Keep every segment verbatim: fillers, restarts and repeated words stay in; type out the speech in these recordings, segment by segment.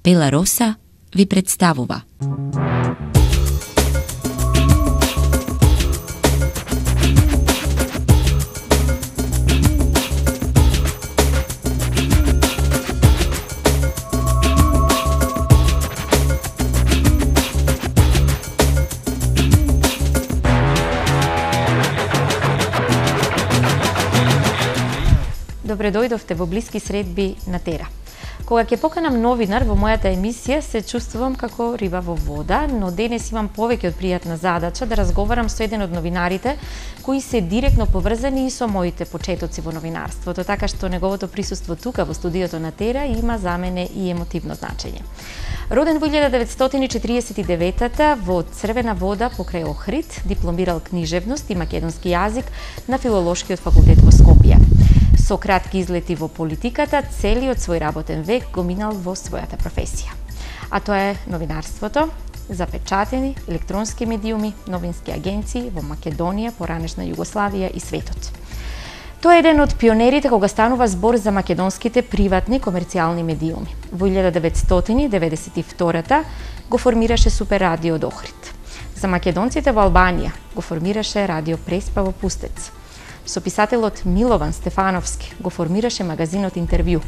Пела Роса ви представува. Добре дојдовте во блиски средби на Тера. Кога ќе поканам новинар во мојата емисија, се чувствувам како риба во вода, но денес имам повеќе од пријатна задача да разговарам со еден од новинарите кои се директно поврзани и со моите почетоци во новинарството, така што неговото присуство тука во студиото на Тера има за мене и емотивно значење. Роден во илјада деветстотини четиридесет и девета во Црвена Вода покрај Охрид, дипломирал книжевност и македонски јазик на Филолошкиот факултет во Скопје. Со кратки излети во политиката, целиот свој работен век го минал во својата професија. А тоа е новинарството, запечатени, електронски медиуми, новински агенции во Македонија, поранешна Југославија и светот. Тоа е еден од пионерите кога станува збор за македонските приватни комерцијални медиуми. Во илјада деветстотини деветдесет и втора го формираше Супер радио од Охрид. За македонците во Албанија го формираше Радио Преспа во Пустец. Со писателот Милован Стефановски го формираше магазинот Интервју.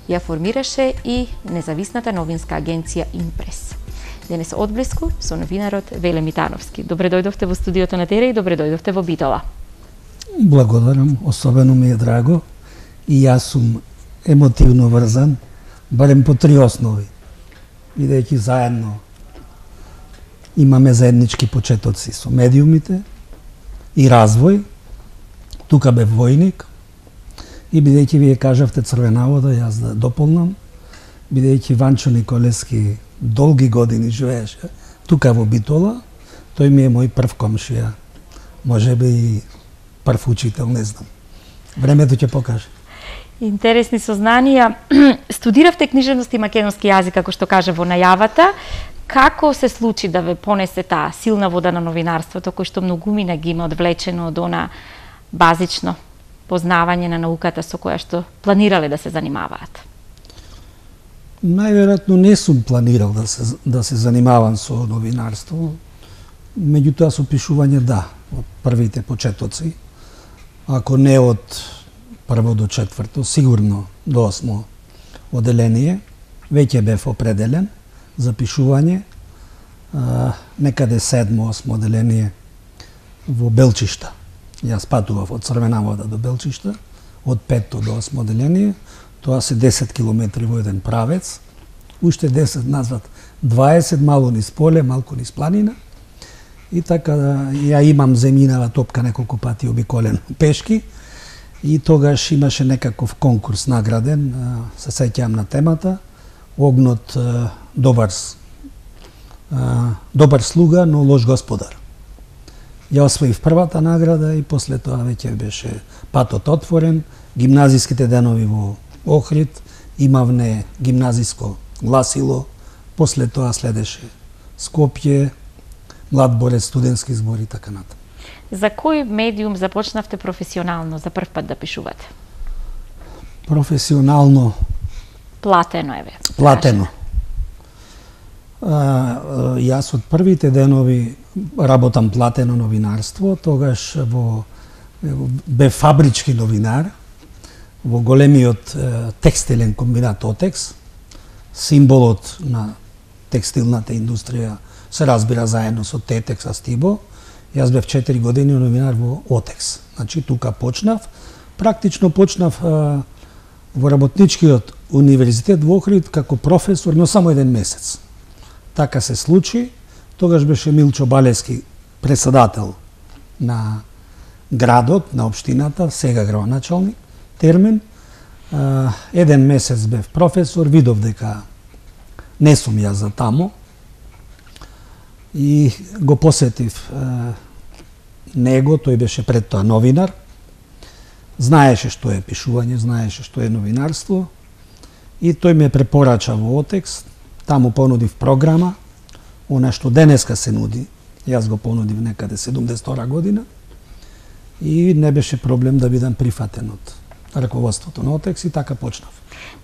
Ја формираше и независната новинска агенција Импрес. Денес одблиску со новинарот Веле Митановски. Добре дојдовте во студиото на Тера и добре дојдовте во Битола. Благодарам, особено ми е драго и јас сум емотивно врзан, барем по три основи. Бидејќи заедно имаме заеднички почетоци со медиумите и развој. Тука бев војник и бидејќи вие кажавте Црвена Вода, јас да дополнам, бидејќи Ванчо Николевски долги години живееше тука во Битола, тој ми е мој прв комшија, можеби и прв учител, не знам. Времето ќе покаже. Интересни сознанија. Студиравте книжевност и македонски јазик, како што кажа во најавата. Како се случи да ве понесе таа силна вода на новинарството, кој што многумина ги има одвлечено од она базично познавање на науката со која што планирале да се занимаваат? Најверојатно не сум планирал да се, да се занимавам со новинарство, меѓутоа со пишување да, од првите почетоци, ако не од прво до четврто, сигурно до осмо оделение, веќе бев определен за пишување, а, некаде седмо, осмо оделение во Белчишта. Јас патував од Црвена Вода до Белчишта, од петто до осмо оделение, тоа се десет километри во еден правец, уште десет назад, дваесет мало низ поле, малку низ планина, и така ја имам земјинава топка неколку пати обиколен пешки, и тогаш имаше некаков конкурс награден, се сеќавам на темата, огнот добар, добар слуга, но лош господар. Ја освоив првата награда и после тоа веќе беше патот отворен, гимназиските денови во Охрид, имавне гимназиско гласило, после тоа следеше Скопје, Млад борец, студентски збор и така натаму. За кој медиум започнавте професионално за прв пат да пишувате? Професионално? Платено е ве. Платено. А, јас од првите денови работам платено новинарство, тогаш во бе фабрички новинар во големиот е, текстилен комбинат Отекс. Символот на текстилната индустрија се разбира заедно со Тетекс, Астибо. Јас бев четири години новинар во Отекс. Значи тука почнав, практично почнав а, во работничкиот универзитет во Охрид како професор, но само еден месец. Така се случи. Тогаш беше Милчо Балески председател на градот, на општината, сега градоначалник, Термен. А, еден месец бев професор, видов дека не сум јас за тамо и го посетив а, него, тој беше пред тоа новинар, знаеше што е пишување, знаеше што е новинарство и тој ме препорача во Отекс, таму понудив програма, она што денеска се нуди, јас го понудив некаде седумдесет и втора година и не беше проблем да бидам прифатен од раководството на Отекс и така почнав.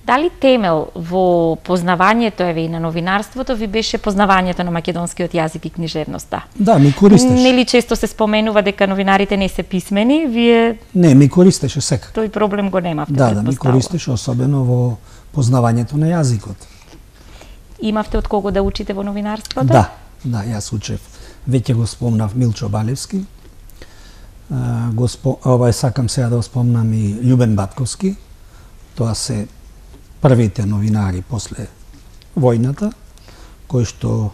Дали темел во познавањето еве и на новинарството ви беше познавањето на македонскиот јазик и книжевноста? Да, ми користеше. Нели често се споменува дека новинарите не се писмени, вие Не, ми користеше секако. тој проблем го немавте, Да, да, ми претпоставувам. користеше особено во познавањето на јазикот. Имавте од кого да учите во новинарството? Да, да, јас учев. Веќе го спомнав Милчо Балевски. А, го спо, овај сакам сега да го спомнам и Љубен Батковски. Тоа се првите новинари после војната, кои што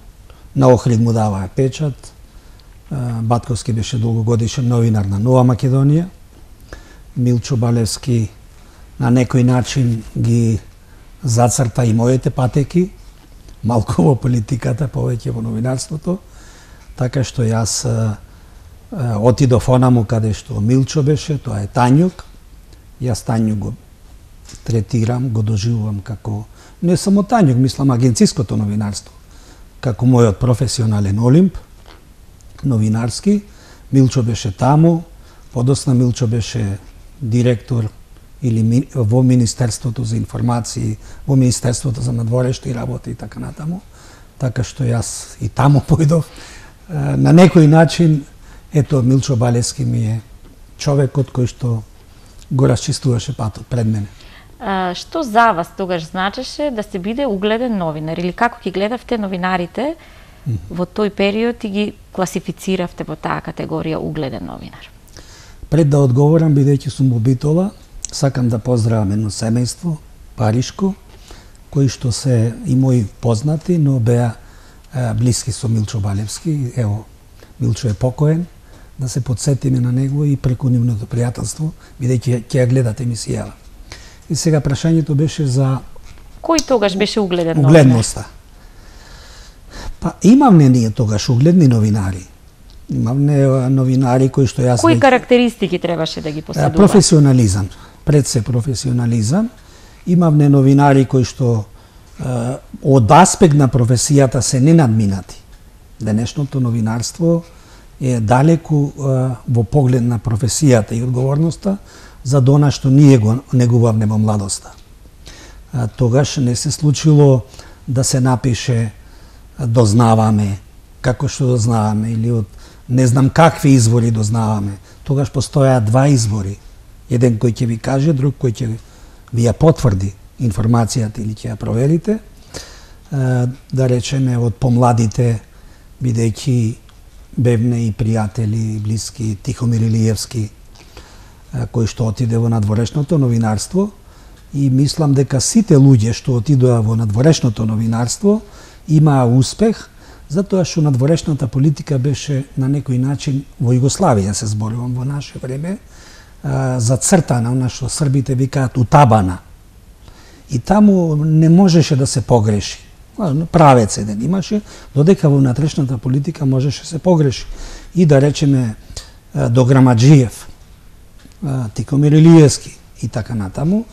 на Охрид му даваа печат. А, Батковски беше долгогодишен новинар на Нова Македонија. Милчо Балевски на некој начин ги зацрта и моите патеки, малку во политиката, повеќе во новинарството, така што јас а, а, отидов онаму каде што Милчо беше, тоа е Тањук. Јас Тањук го третирам, го доживувам како не само Тањук, мислам агенциското новинарство, како мојот професионален олимп, новинарски. Милчо беше таму, подосна Милчо беше директор или ми, во Министерството за информации, во Министерството за надворешни работи и така натаму. Така што јас и таму појдов. На некој начин, ето, Милчо Балевски ми е човекот кој што го расчистуваше патот пред мене. А, што за вас тогаш значеше да се биде угледен новинар или како ги гледавте новинарите во тој период и ги класифициравте во таа категорија угледен новинар? Пред да одговорам, бидејќи сум во Битола, сакам да поздравам едно семејство, паришко, кои што се и мои познати, но беа е, блиски со Милчо Балевски. Ево, Милчо е покоен, да се подсетиме на него и преку нивното пријателство, бидејќи ќе ја гледате емисијава. И сега прашањето беше за Кој тогаш беше угледен новинар? угледноста. Па имавме ние тогаш угледни новинари. Имавме новинари кои што јас... Кои веќе- карактеристики требаше да ги А, поседува? професионализам, пред се професионализам. Имавме новинари кои што а, од аспект на професијата се ненадминати. Денешното новинарство е далеку а, во поглед на професијата и одговорноста за она што ние го негувавме во младоста. А, тогаш не се случило да се напише а, дознаваме, како што дознаваме, или од не знам какви извори дознаваме. Тогаш постојаа два извори. Еден кој ќе ви каже, друг кој ќе ви ја потврди информацијата или ќе ја проверите. Да речеме од помладите, бидејќи бевне и пријатели, блиски, Тихомир Илиевски, кој што отиде во надворешното новинарство, и мислам дека сите луѓе што отидоа во надворешното новинарство имаа успех, затоа што надворешната политика беше на некој начин во Југославија, се зборувам во наше време, зацртана, она што србите викаат утабана. И таму не можеше да се погреши. Правец еден имаше, додека во внатрешната политика можеше се погреши. И да речеме Дограмаджиев, Тихомир Илиевски и така натаму,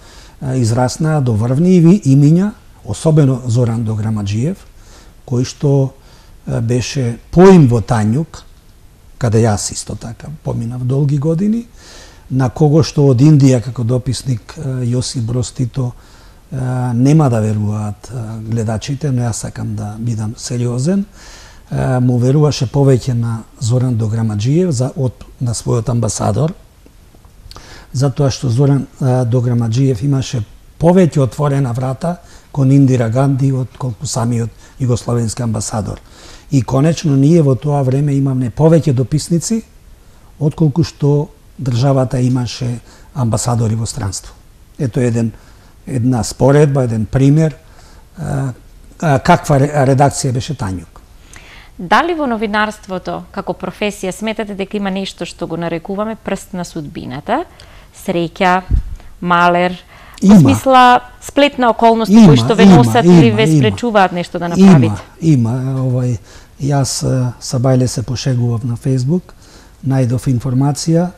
израснаа до врвни имиња, особено Зоран Дограмаджиев, кој што беше поим во Тањук, каде јас исто така поминав долги години, на кого што од Индија како дописник Јосип Броз Тито нема да веруваат гледачите, но јас сакам да бидам сериозен, му веруваше повеќе на Зоран Дограмаджиев за, од, на својот амбасадор, затоа што Зоран Дограмаджиев имаше повеќе отворена врата кон Индира Ганди од колку самиот југословенски амбасадор. И конечно ние во тоа време имавме повеќе дописници отколку што државата имаше амбасадори во странство. Ето еден една споредба, еден пример каква редакција беше Тањук. Дали во новинарството како професија сметате дека има нешто што го нарекуваме прст на судбината, среќа, малер, во смисла сплетна околности има, кои што ве има, носат има, или ве има. спречуваат нешто да направите? Има, има. Овај, јас са бајле се пошегував на Фејсбук, најдов информација,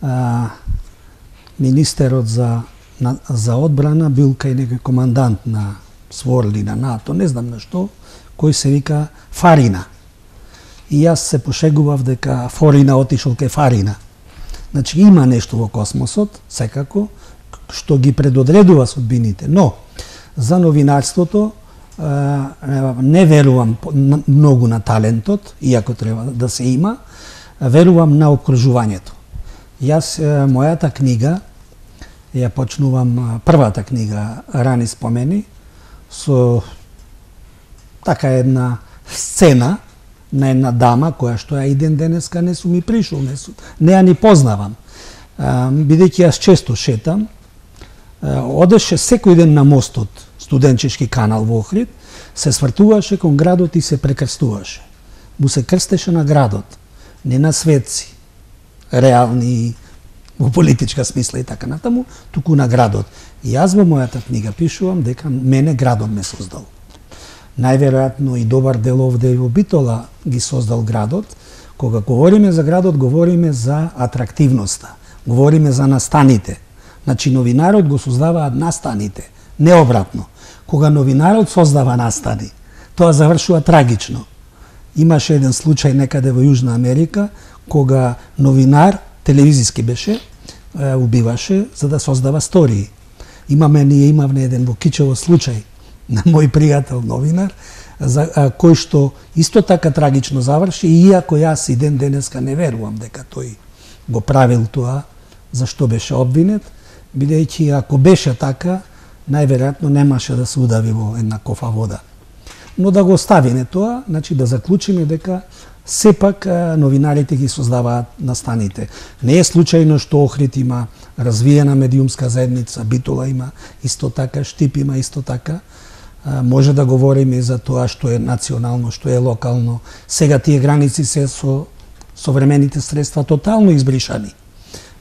а, министерот за, на, за одбрана бил кај некој командант на СВОР или на НАТО, не знам на што, кој се вика Фарина. И јас се пошегував дека Форина отишол кај Фарина. Значи има нешто во космосот, секако, што ги предодредува судбините. Но за новинарството не верувам многу на талентот, иако треба да се има, верувам на окружувањето. Јас мојата книга ја почнувам, првата книга Рани спомени, со така една сцена на една дама која што ја и ден денеска не сум ми пришол, не, сум, не ја ни познавам. Бидејќи јас често шетам, одеше секој ден на мостот, студенчешки канал во Охрид, се свртуваше кон градот и се прекрстуваше. Му се крстеше на градот, не на светци, реални во политичка смисла и така натаму, туку на градот. И јас во мојата книга пишувам дека мене градот ме создал. Најверојатно и добар дел овде во Битола ги создал градот. Кога говориме за градот, говориме за атрактивноста, говориме за настаните. Значи новинарот го создаваат настаните, не обратно. Кога новинарот создава настани, тоа завршува трагично. Имаше еден случај некаде во Јужна Америка, кога новинар, телевизиски беше, убиваше за да создава стории. Имаме, ние имавме еден во Кичево случај на мој пријател новинар, за а, кој што исто така трагично заврши, иако јас и ден денеска не верувам дека тој го правил тоа, зашто беше обвинет, бидејќи ако беше така, најверојатно немаше да се удави во една кофа вода. Но да го оставиме тоа, значи да заклучиме дека сепак новинарите ги создаваат настаните. Не е случајно што Охрид има развиена медиумска заедница, Битола има исто така, Штип има исто така. Може да говориме и за тоа што е национално, што е локално. Сега тие граници се со современите средства тотално избришани.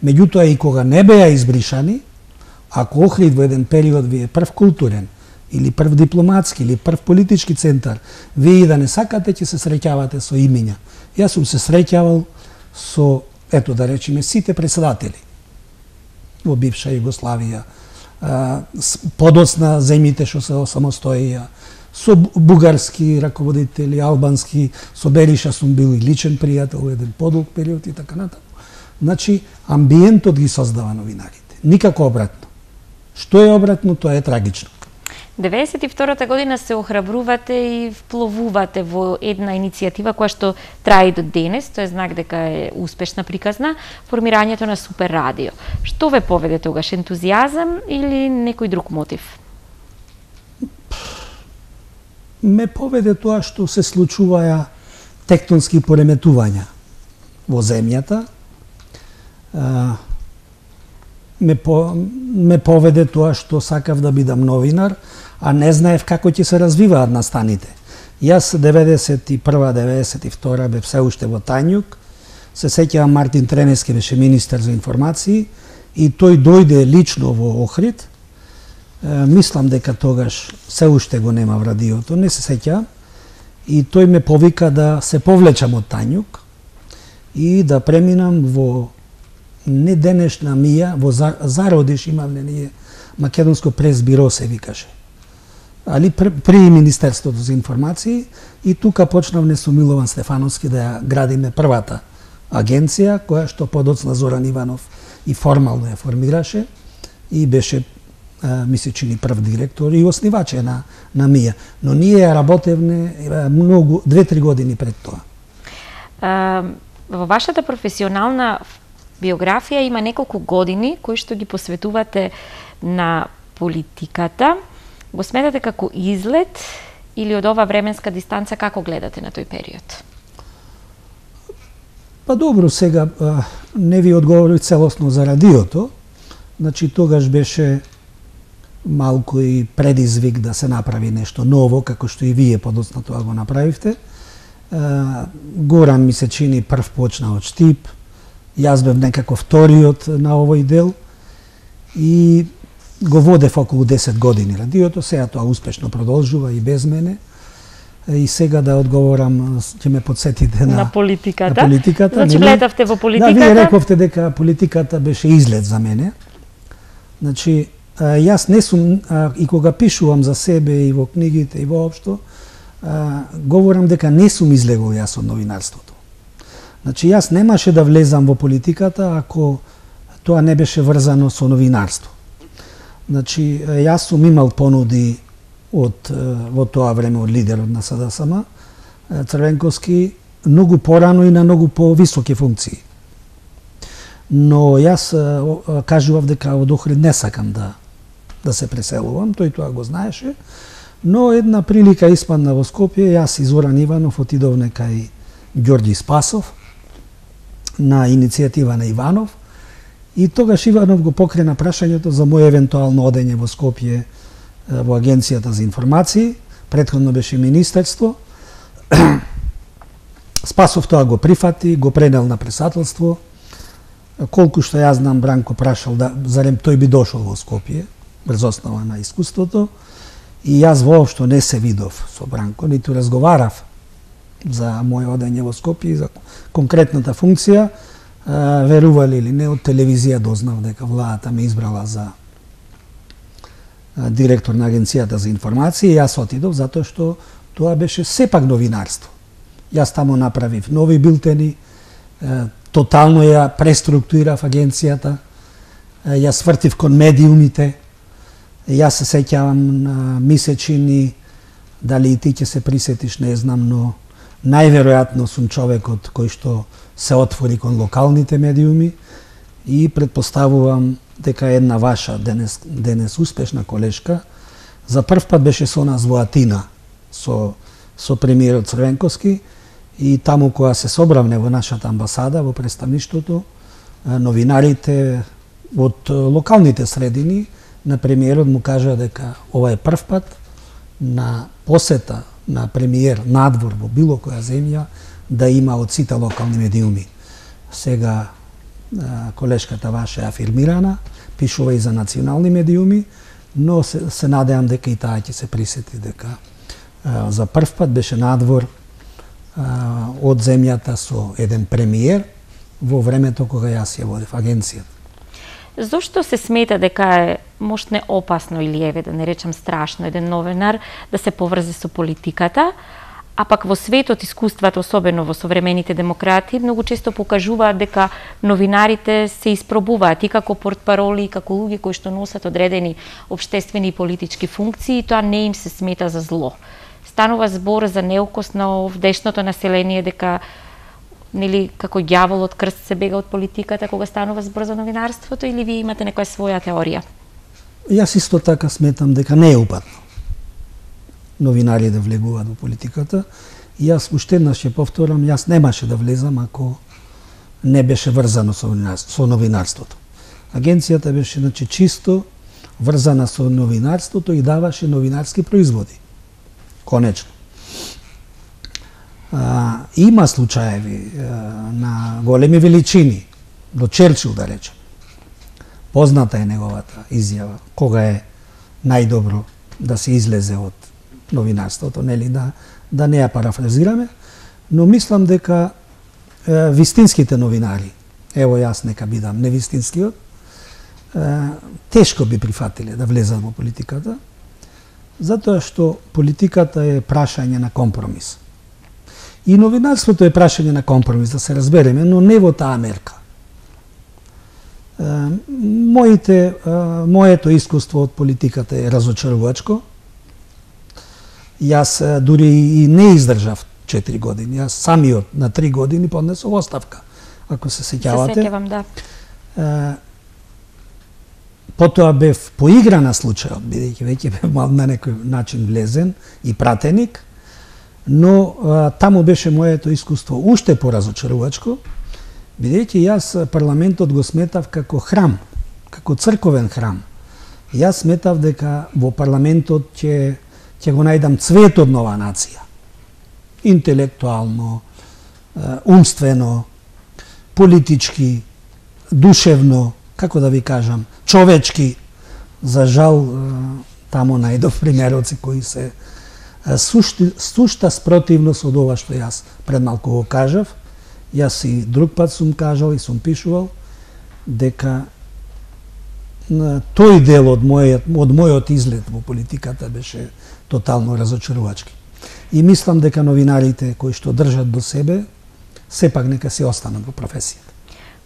Меѓутоа и кога не беа избришани, ако Охрид во еден период ви е прв културен, или прв дипломатски, или прв политички центар, вие и да не сакате, ќе се среќавате со имиња. Јас сум се среќавал со, ето да речеме, сите председатели во бивша Југославија, подоцна земјите што се самостоија, со бугарски раководители, албански, со Бериша сум бил и личен пријател во еден подолг период и така натаму. Значи, амбиентот ги создава новинарите. Никако обратно. Што е обратно, тоа е трагично. деветдесет и втората година се охрабрувате и впловувате во една иницијатива која што трае и до денес, тоа е знак дека е успешна приказна, формирањето на Супер радио. Што ве поведе тогаш, ентузијазам или некој друг мотив? Ме поведе тоа што се случуваја тектонски пореметувања во земјата. Ме, по, ме поведе тоа што сакав да бидам новинар, а не знаев како ќе се развиваат настаните. Јас деветдесет и прва деветдесет и втора бев се уште во Тањук, се сеќавам Мартин Тренески беше министер за информации и тој дојде лично во Охрид. Е, мислам дека тогаш се уште го нема в радиото, не се сеќавам, и тој ме повика да се повлечам од Тањук и да преминам во не денешна Мија, во Зародиш имавме ние Македонско прес-биро се викаше. Али при Министерството за информации и тука почнавме со Милован Стефановски да ја градиме првата агенција која што подоцна Зоран Иванов и формално ја формираше и беше мисли чини прв директор и основач на на Мија, но ние ја работевме многу две-три години пред тоа. А, во вашата професионална биографија има неколку години кои што ги посветувате на политиката. Го сметате како излет или од ова временска дистанца, како гледате на тој период? Па добро, сега не ви одговорив целосно за радиото. Значи тогаш беше малку и предизвик да се направи нешто ново, како што и вие подоцна тоа го направивте. Горан ми се чини прв почна од Штип, јас бев некако вториот на овој дел и го водев околу десет години радиото, сега тоа успешно продолжува и без мене. И сега да одговорам, ќе ме подсетите на, на политиката. На политиката. Значи влетавте во политиката. Да, вие рековте дека политиката беше излет за мене. Значи, јас не сум, и кога пишувам за себе и во книгите и воопшто, говорам дека не сум излегол јас од новинарството. Значи, јас немаше да влезам во политиката ако тоа не беше врзано со новинарство. Значи, јас сум имал понуди од во тоа време од лидерот на СДСМ, Црвенковски, многу порано и на многу повисоки функции. Но јас кажував дека од Охрид не сакам да да се преселувам, тој тоа го знаеше, но една прилика испадна во Скопје, јас и Зоран Иванов отидовме кај Ѓорѓи Спасов на иницијатива на Иванов и тогаш Иванов го покрена прашањето за моје евентуално одење во Скопје во Агенцијата за информации, претходно беше Министерство. Спасов тоа го прифати, го пренел на председателство. Колку што јас знам, Бранко прашал да зарем тој би дошол во Скопје, врз основа на искуството. И јас воопшто не се видов со Бранко, ниту разговарав за моје одење во Скопје и за конкретната функција. Верували или не, од телевизија дознав дека владата ме избрала за директор на Агенцијата за информации. Јас отидов затоа што тоа беше сепак новинарство. Јас тамо направив нови билтени, тотално ја преструктурирав агенцијата, јас вртив кон медиумите, јас се сеќавам на месечини, дали и ти ќе се присетиш, не знам, но најверојатно сум човекот кој што се отвори кон локалните медиуми и предпоставувам дека една ваша денес, денес успешна колешка за прв пат беше со нас во Атина со, со премиерот Црвенковски и таму кога се собравне во нашата амбасада, во представништвото, новинарите од локалните средини на премиерот му кажа дека ова е прв пат на посета на премиер надвор во било која земја да има од сите локални медиуми. Сега колешката ваша е афирмирана, пишува и за национални медиуми, но се, се надеам дека и таа ќе се присети дека а, за прв пат беше надвор а, од земјата со еден премиер во времето кога јас ја водев агенцијата. Зошто се смета дека е можне опасно или еве да не речам страшно еден новинар да се поврзе со политиката, а пак во светот искуствата, особено во современите демократи, многу често покажуваат дека новинарите се испробуваат и како портпароли, и како луѓе кои што носат одредени општествени и политички функции, и тоа не им се смета за зло. Станува збор за неукос на овдешното население дека нели како ѓаволот крст се бега од политиката кога станува збор за новинарството, или вие имате некоја своја теорија? Јас исто така сметам дека не е упатно новинари да влегуваат во политиката. И јас уште еднаш ќе повторам, јас немаше да влезам ако не беше врзано со новинарството. Со новинарството. Агенцијата беше значи чисто врзана со новинарството и даваше новинарски производи. Конечно. А, има случаеви а, на големи величини, до Черчил да речем. Позната е неговата изјава, кога е најдобро да се излезе од новинарството, нели, да, да не ја парафразираме, но мислам дека е, вистинските новинари, ево јас нека бидам невистинскиот, е, тешко би прифатиле да влезат во политиката, затоа што политиката е прашање на компромис. И новинарството е прашање на компромис, да се разбереме, но не во таа мерка. Е, моите, е, моето искуство од политиката е разочарувачко. Јас дури и не издржав четири години. Јас самиот на три години поднесов оставка, ако се сеќавате. Се сеќавам, да. Е, потоа бев поигра на случајот, бидејќи веќе бев на некој начин влезен и пратеник, но е, таму беше моето искуство уште поразочарувачко, бидејќи јас парламентот го сметав како храм, како црковен храм. Јас сметав дека во парламентот ќе ќе го најдам цветот на оваа нација. Интелектуално, умствено, политички, душевно, како да ви кажам, човечки. За жал, тамо најдов примероци кои се сушти, сушта спротивност од ова што јас пред малку го кажав. Јас и друг пат сум кажал и сум пишувал дека тој дел од мојот, од мојот излет во политиката беше тотално разочарувачки. И мислам дека новинарите кои што држат до себе, сепак нека се останат во професијата.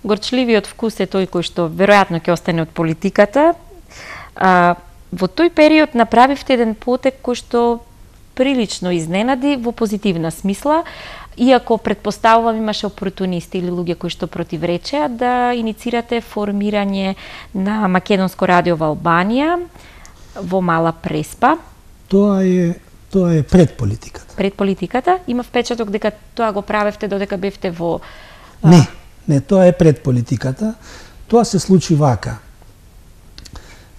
Горчливиот вкус е тој кој што веројатно ќе остане од политиката, А, во тој период направивте еден потек кој што прилично изненади во позитивна смисла, иако предпоставувам имаше опортунисти или луѓе кои што противречеа да иницирате формирање на Македонско радио во Албанија во Мала Преспа. Тоа е тоа е пред политиката. Пред политиката има впечаток дека тоа го правевте додека бевте во а... Не, не, тоа е пред политиката. Тоа се случи вака.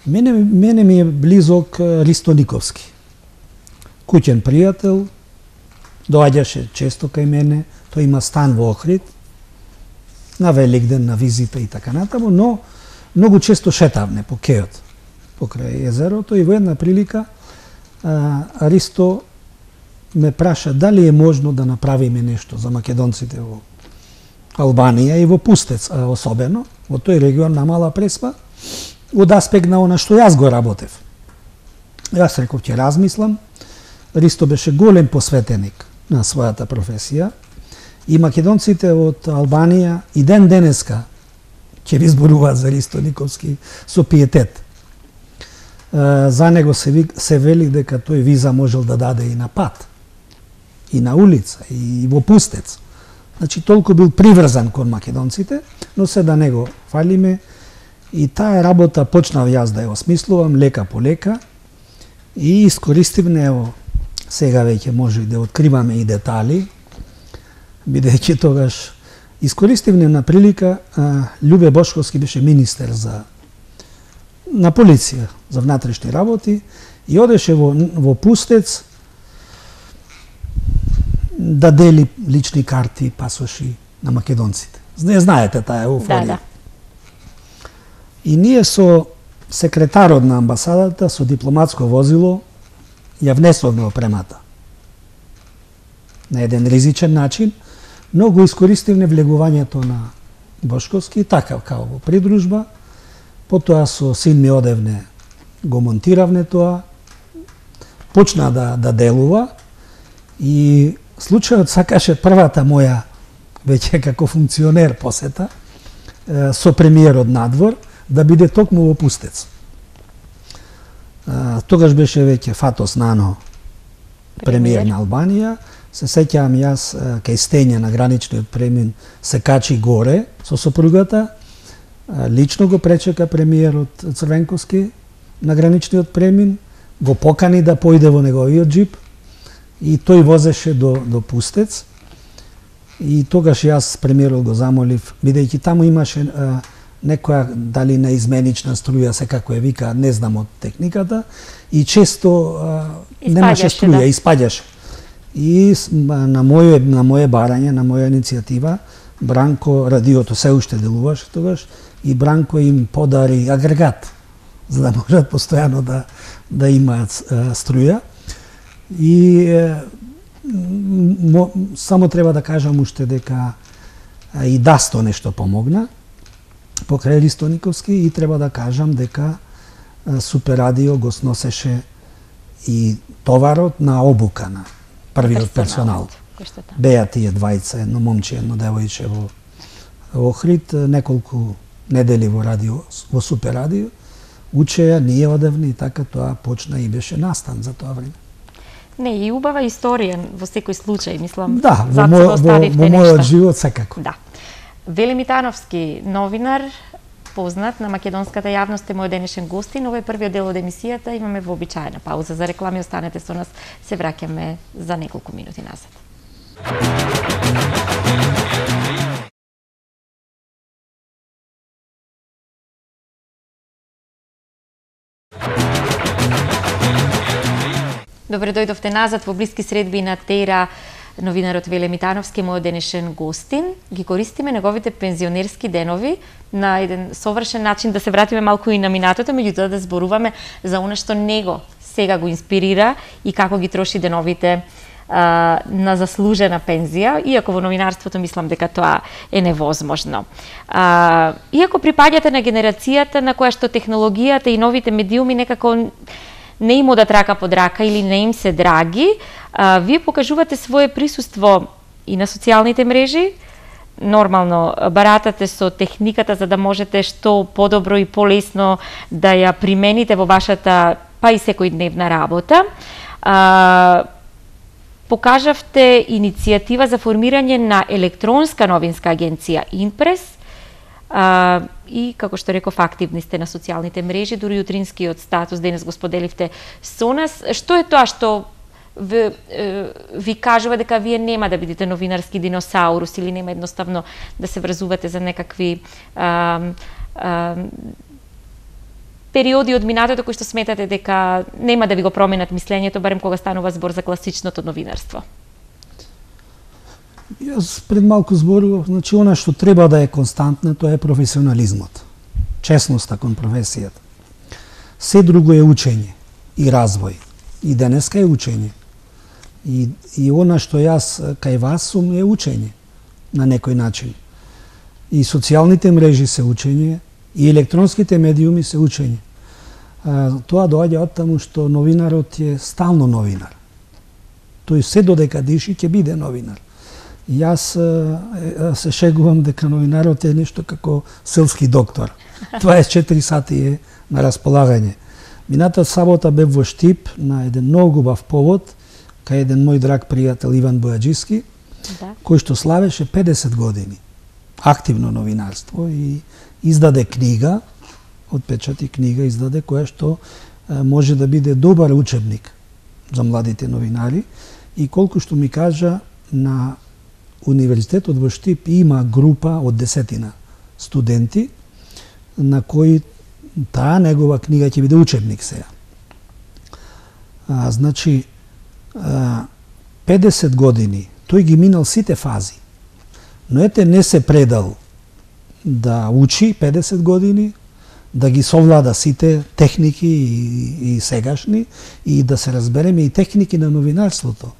Мене мене ми е близок Ристо Никовски. Куќен пријател, доаѓаше често кај мене, тој има стан во Охрид, на Великден, на визита и така натаму, но многу често шетавне по кеот, покрај езерото, и во една прилика а, Ристо ме праша дали е можно да направиме нешто за македонците во Албанија и во Пустец, а, особено, во тој регион на Мала Преспа, од аспект на она што јас го работев. Јас реков, ќе размислам. Ристо беше голем посветеник на својата професија и македонците од Албанија и ден денеска ќе ви зборуваат за Ристо Никовски со пиетет. За него се, се вели дека тој виза можел да даде и на пат, и на улица, и во Пустец. Значи, толку бил приврзан кон македонците, но се да него фалиме. И таа работа почнав јас да ја осмислувам лека по лека и искористивме, ево, сега веќе може и да откриваме и детали, бидејќи тогаш искористивме на прилика, а, Љубе Бошковски беше министер за на полиција за внатрешни работи и одеше во, во Пустец да дели лични карти, пасоши на македонците. Не знаете таа еуфорија. Да, да. И ние со секретарот на амбасадата, со дипломатско возило, ја внесовме опремата. На еден ризичен начин, но го искористивме влегувањето на Бошковски, така као во придружба, потоа со син ми одевне го монтиравне тоа, почна да, да делува и случајот сакаше првата моја, веќе како функционер посета, со премиерот надвор, да биде токму во Пустец. А, тогаш беше веќе Фатос Нано, премиер на Албанија. Се сеќавам јас кај стење на граничниот премин се качи горе со сопругата, лично го пречека премиерот Црвенковски на граничниот премин, го покани да појде во неговиот джип и тој возеше до, до Пустец. И тогаш јас премиерот го замолив, бидејќи таму имаше а, некоја дали неизменична струја, секако ја вика, не знам од техниката, и често а, немаше струја, да. Испаѓаше. И на моје, на моје барање, на моја иницијатива, Бранко, радиото се уште делуваше тогаш, и Бранко им подари агрегат, за да можат постојано да, да имаат а, струја. И а, мо, само треба да кажам уште дека а, и Дасто нешто помогна, покрај Ристо Никовски, и треба да кажам дека Супер радио го сносеше и товарот на обука на првиот персонал. Беа тие двајца, едно момче, едно девојче во Охрид, неколку недели во радио, во Супер радио, учеја, ние одевни, и така тоа почна и беше настан за тоа време. Не, и убава историја во секој случај, мислам. Да, во, мој, во, во мојот живот секако. Да. Вели Митановски, новинар, познат на македонската јавност, е мој денешен гостин. Ова е првиот дел од емисијата, имаме вообичаена пауза за реклами, останете со нас, се враќаме за неколку минути назад. Добре дојдовте назад во блиски средби на Тера. Новинарот Веле Митановски, мојот денешен гостин. Ги користиме неговите пензионерски денови на еден совршен начин да се вратиме малку и на минатото, меѓутоа да зборуваме за она што него сега го инспирира и како ги троши деновите а, на заслужена пензија, иако во новинарството мислам дека тоа е невозможно. А, иако припаѓате на генерацијата на која што технологијата и новите медиуми некако не им одат рака под рака или не им се драги, а, вие покажувате свое присуство и на социјалните мрежи, нормално баратате со техниката за да можете што подобро и полесно да ја примените во вашата па и секојдневна работа. А, покажавте иницијатива за формирање на електронска новинска агенција Инпрес, а, и како што реков, активни сте на социјалните мрежи, дури утринскиот статус денес го споделивте со нас. Што е тоа што ви, ви кажува дека вие нема да бидете новинарски диносаурус или нема едноставно да се врзувате за некакви а, а, периоди од минатото кои што сметате дека нема да ви го променат мислењето, барем кога станува збор за класичното новинарство? Јас пред малку зборував, значи она што треба да е константно, тоа е професионализмот, честноста кон професијата. Се друго е учење и развој. И денеска е учење. И, и она што јас кај вас сум е учење на некој начин. И социјалните мрежи се учење, и електронските медиуми се учење. А, тоа доаѓа од таму што новинарот е стално новинар. Тој се додека диши ќе биде новинар. Јас а, се шегувам дека новинарот е нешто како селски доктор. Тоа е четири сати е на располагање. Мината сабота бев во Штип на еден многу убав повод кај еден мој драг пријател Иван Бојаджиски, да, кој што славеше педесет години активно новинарство и издаде книга, отпечати книга издаде, која што а, може да биде добар учебник за младите новинари. И колку што ми кажа, на Универзитетот во Штип има група од десетина студенти на кои таа негова книга ќе биде учебник сега. А, значи, а, педесет години, тој ги минал сите фази. Но ете не се предал да учи педесет години, да ги совлада сите техники и, и сегашни, и да се разбереме и техники на новинарството.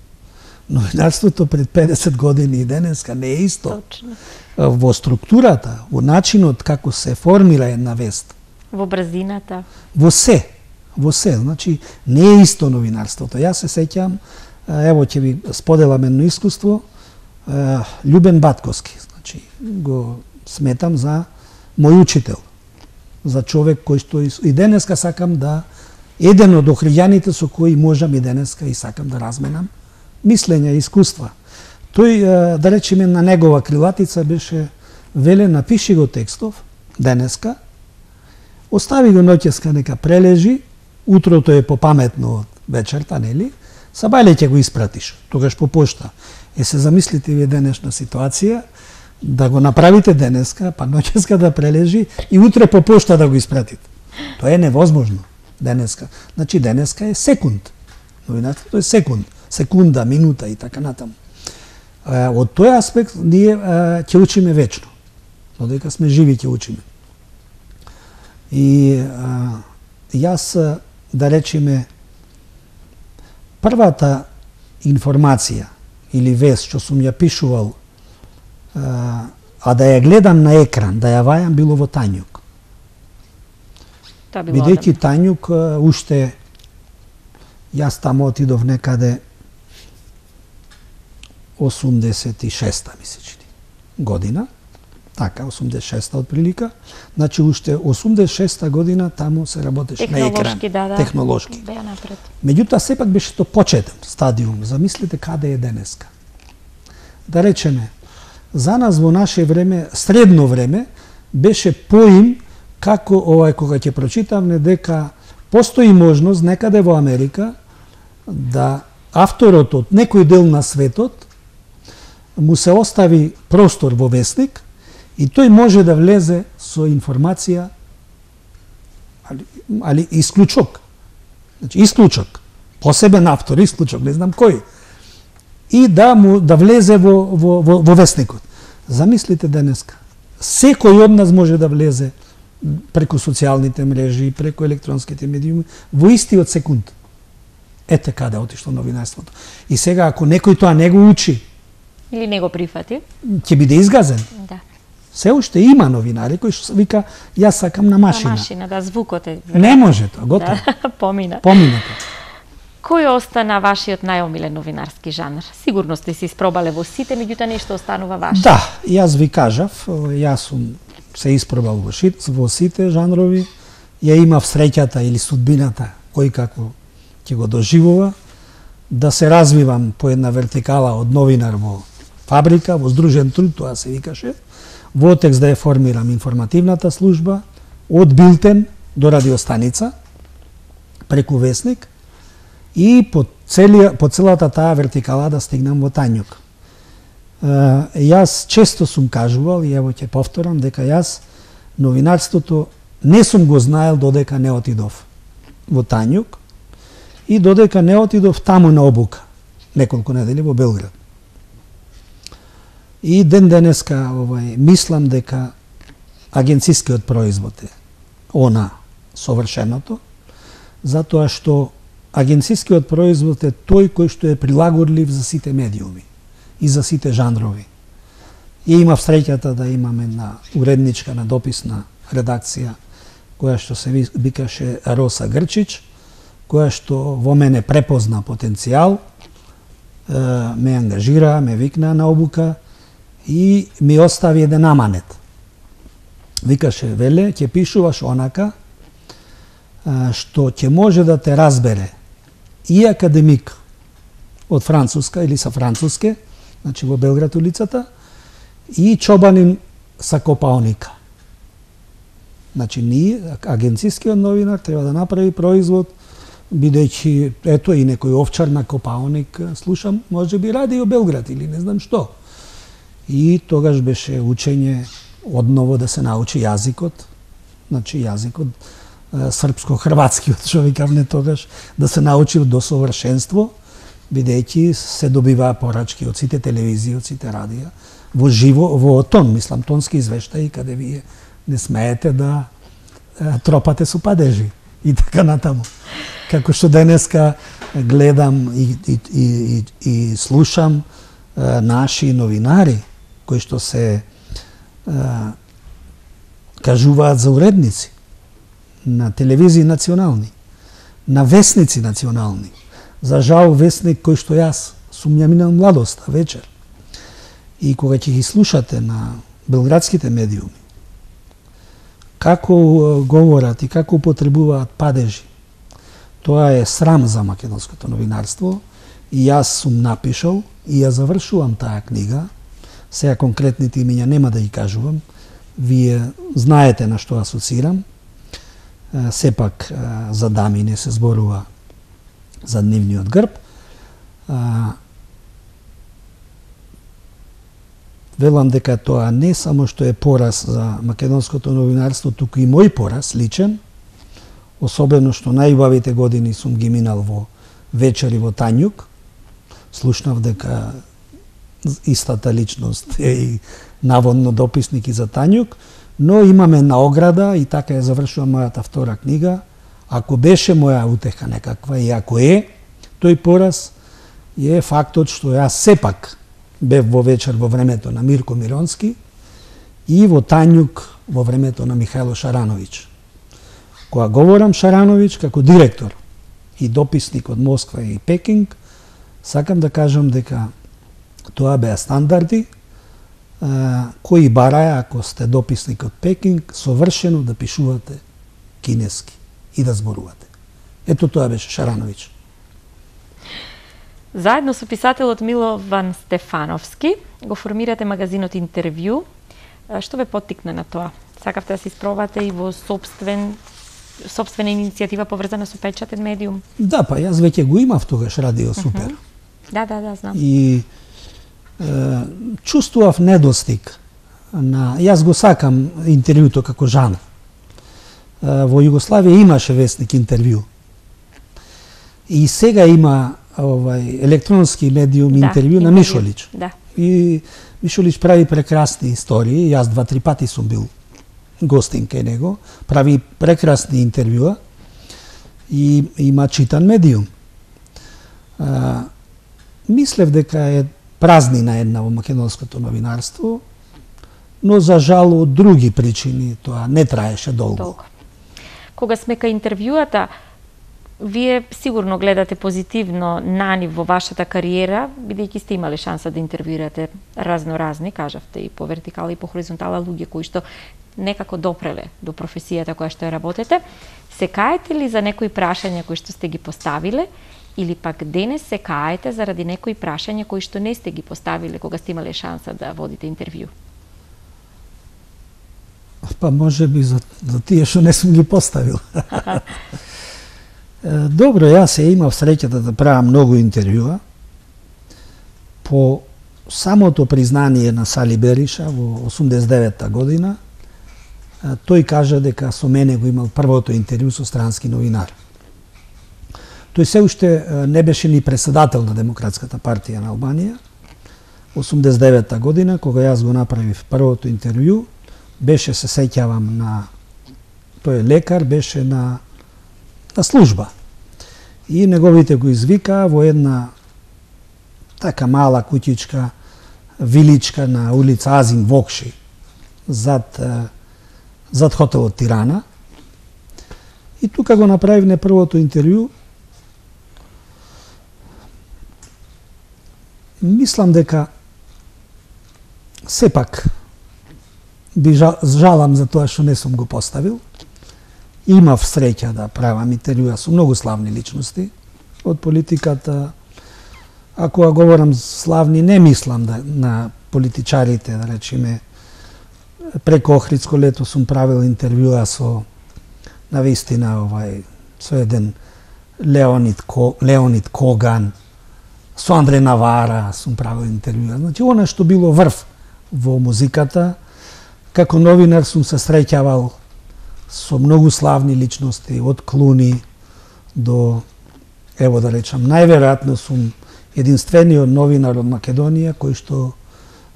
Новинарството пред педесет години и денеска не е исто. Точно. Во структурата, во начинот како се формира една вест. Во брзината. Во се. Во се. Значи, не е исто новинарството. Јас се сеќам, ево ќе ви споделам едно искуство, Љубен Батковски. Значи, го сметам за мој учител. За човек кој што и денеска сакам да, еден од охријаните со кои можам и денеска и сакам да разменам мислења и искуства. Тој, да речеме, на негова крилатица беше веле, напиши го текстов денеска, остави го ноќеска нека прележи, утрото е попаметно од вечерта, нели? Сабајле ќе го испратиш, тогаш по пошта. Е, се замислите вие денешна ситуација, да го направите денеска, па ноќеска да прележи и утре по пошта да го испратите. Тоа е невозможно денеска. Значи денеска е секунд. Новинарството е секунд. Секунда, минута и така натаму. Од тој аспект ние ќе учиме вечно. Додека сме живи ќе учиме. И а, јас, да речеме, првата информација или вест што сум ја пишувал, а, а да ја гледам на екран, да ја вајам, било во Тањук. Бидејќи Тањук уште, јас таму отидов некаде осумдесет и шеста мислечни година, така, осумдесет и шеста отприлика, значи уште осумдесет и шеста година таму се работеше на екран, да, да, технолошки. Беа напред. Меѓутоа сепак беше тоа почетен стадиум. Замислите каде е денеска. Да речеме, за нас во наше време, средно време, беше поим како овај кога ќе прочитам дека постои можност некаде во Америка да авторот од некој дел на светот му се остави простор во весник и тој може да влезе со информација, али, али исклучок. Значи, исклучок. Посебен автор, исклучок, не знам кој. И да му да влезе во, во, во, во весникот. Замислите денеска. Секој од нас може да влезе преку социјалните мрежи, преку електронските медиуми, во истиот секунд. Ете каде отишло новинарството. И сега, ако некој тоа не го учи, или не го прифати, ќе биде изгазен. Да. Се уште има новинари кои што вика, јас сакам на машина. На машина, да, звукот е. Не може тоа, готово. Да, помина. Помина тоа. Кој остана вашиот најомилен новинарски жанр? Сигурно сте се испробале во сите, меѓутоа нешто останува ваше. Да, јас ви кажав, јас сум се испробал во, шит, во сите жанрови, ја имав среќата или судбината, кој како ќе го доживува, да се развивам по една вертикала од новинар во фабрика, во здружен труд, тоа се викаше, во ОТЕКС да ја формирам информативната служба, од билтен до радиостаница, преку весник, и по, целија, по целата таа вертикала да стигнам во Тањук. Јас често сум кажувал, и ево ќе повторам, дека јас новинарството не сум го знаел додека не отидов во Тањук и додека не отидов таму на обука, неколку недели во Белград. И ден денеска овај, мислам дека агенцискиот производ е она совршеното, затоа што агенцискиот производ е тој кој што е прилагодлив за сите медиуми и за сите жанрови. И имав среќата да имаме на уредничка на дописна редакција која што се викаше Роса Грчич, која што во мене препозна потенцијал, ме ангажира, ме викна на обука и ми остави еден аманет. Викаше, веле, ќе пишуваш онака што ќе може да те разбере и академик од Француска или са француске, значи во Белград улицата, и чобанин са Копаоника. Значи, ние, агенцискиот новинар, треба да направи производ, бидејќи, ето и некој овчар на Копаоник, слушам, може би ради во Белград или не знам што. И тогаш беше учење одново да се научи јазикот, значи јазикот, српско-хрватскиот, што викавме тогаш, да се научи до совршенство, бидејќи се добиваа порачки од сите телевизии, од сите радија, во живо, во тон, мислам, тонски извештаи, каде вие не смеете да е, тропате со падежи и така натаму. Како што денеска гледам и, и, и, и слушам е, наши новинари, кои што се е, кажуваат за уредници на телевизии национални, на весници национални. За жал весник кој што јас сум ја минал младоста вечер. И кога ќе ги слушате на белградските медиуми, како говорат и како употребуваат падежи, тоа е срам за македонското новинарство и јас сум напишал и ја завршувам таа книга. Сега конкретните имиња нема да ги кажувам, вие знаете на што асоцирам. Сепак за дами не се зборува за нивниот грб. Велам дека тоа не само што е пораз за македонското новинарство, туку и мој пораз личен, особено што најубавите години сум ги минал во вечери во Тањук. Слушнав дека истата личност е и наводно дописник и за Тањук, но имаме на ограда и така ја завршувам мојата втора книга. Ако беше моја утеха некаква и ако е, тој пораз е фактот што јас сепак бев во вечер во времето на Мирко Миронски и во Тањук во времето на Михајло Шарановиќ. Кога говорам Шарановиќ како директор и дописник од Москва и Пекинг, сакам да кажам дека тоа беа стандарди кои бараја, ако сте дописник од Пекинг, совршено да пишувате кинески и да зборувате. Ето тоа беше Шарановиќ. Заедно со писателот Милован Стефановски го формирате магазинот Интервју. Што ве поттикна на тоа? Сакавте да се испробате и во собствен собствена иницијатива поврзана со печатен медиум? Да, па јас веќе го имав тогаш Радио Супер. Uh -huh. Да, да, да, знам. И е, чувствував недостиг на... Јас го сакам интервјуто како жанр. Е, во Југославија имаше весник Интервју. И сега има овај електронски медиум да, Интервју на Мишолич. Да. И Мишолич прави прекрасни истории. Јас два-три пати сум бил гостин кај него. Прави прекрасни интервјуа и има читан медиум. А, мислев дека е празнина една во македонското новинарство, но за жал од други причини тоа не траеше долго. долго. Кога сме кај интервјуата, Вие сигурно гледате позитивно на нив во вашата кариера, бидејќи сте имале шанса да интервјуирате разноразни, кажавте, и по вертикала и по хоризонтала луѓе кои што некако допреле до професијата која што ја работите. Се каете ли за некои прашања кои што сте ги поставиле, или пак денес се каете заради некои прашања кои што не сте ги поставиле кога сте имале шанса да водите интервју? Па може би за, за тие што не сум ги поставил. Добро, јас се имав среќата да правам многу интервјуа. По самото признание на Сали Бериша во осумдесет и девета година, тој кажа дека со мене го имал првото интервју со странски новинар. Тој се уште не беше ни председател на Демократската партија на Албанија. осумдесет и девета година, кога јас го направив првото интервју, беше, се сеќавам, на тој лекар, беше на на служба. И неговите го извикаа во една така мала куќичка, виличка на улица Азим Вокши, зад, зад хотелот Тирана. И тука го направивме првото интервју. Мислам дека сепак би жалам за тоа што не сум го поставил. Имав среќа да правам интервјуа со многу славни личности од политиката. Ако ја говорам славни, не мислам да, на политичарите, да речеме, преко Охридско лето сум правил интервјуа со, навистина, овај, со еден Леонид, Ко, Леонид Коган, со Андре Навара сум правил интервјуа. Значи, она што било врв во музиката, како новинар сум се среќавал со многу славни личности, од Клуни до, ево да речам, најверојатно сум единствениот новинар од Македонија кој што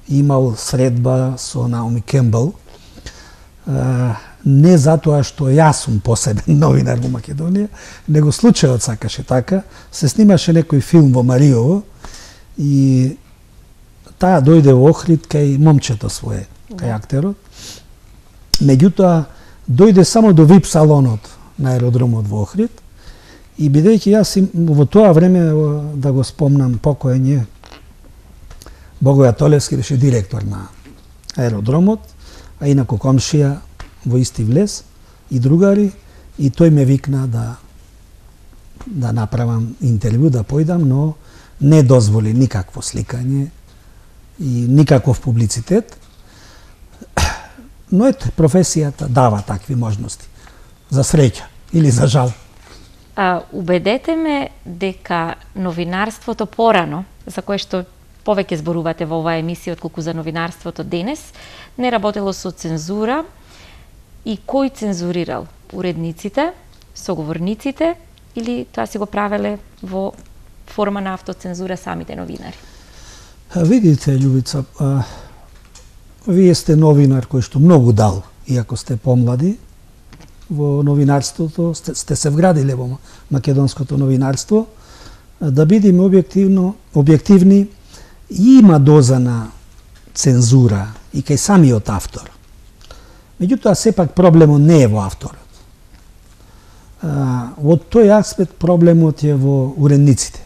имал средба со Наоми Кембл. Не затоа што јас сум посебен новинар во Македонија, него случајот сакаше така. Се снимаше некој филм во Мариово и таа дојде во Охрид кај момчето свое, кај актерот. Меѓутоа, дојде само до вип салонот на аеродромот во Охрид и бидејќи јас им, во тоа време, да го спомнам, покоен е Богоја Толевски, беше директор на аеродромот, а инаку комшија во исти влез и другари, и тој ме викна да да направам интервју, да појдам, но не дозволи никакво сликање и никаков публицитет. Но ете, професијата дава такви можности. За среќа или за жал. А, убедете ме дека новинарството порано, за кое што повеќе зборувате во оваа емисија отколку за новинарството денес, не работело со цензура, и кој цензурирал? Уредниците, соговорниците или тоа си го правеле во форма на автоцензура самите новинари? А, видите, Љубица, а, вие сте новинар кој што многу дал, иако сте помлади во новинарството, сте, сте се вградиле во македонското новинарство. Да бидеме објективно, објективни, има доза на цензура и кај самиот автор. Меѓутоа, сепак проблемот не е во авторот. Во тој аспект проблемот е во уредниците.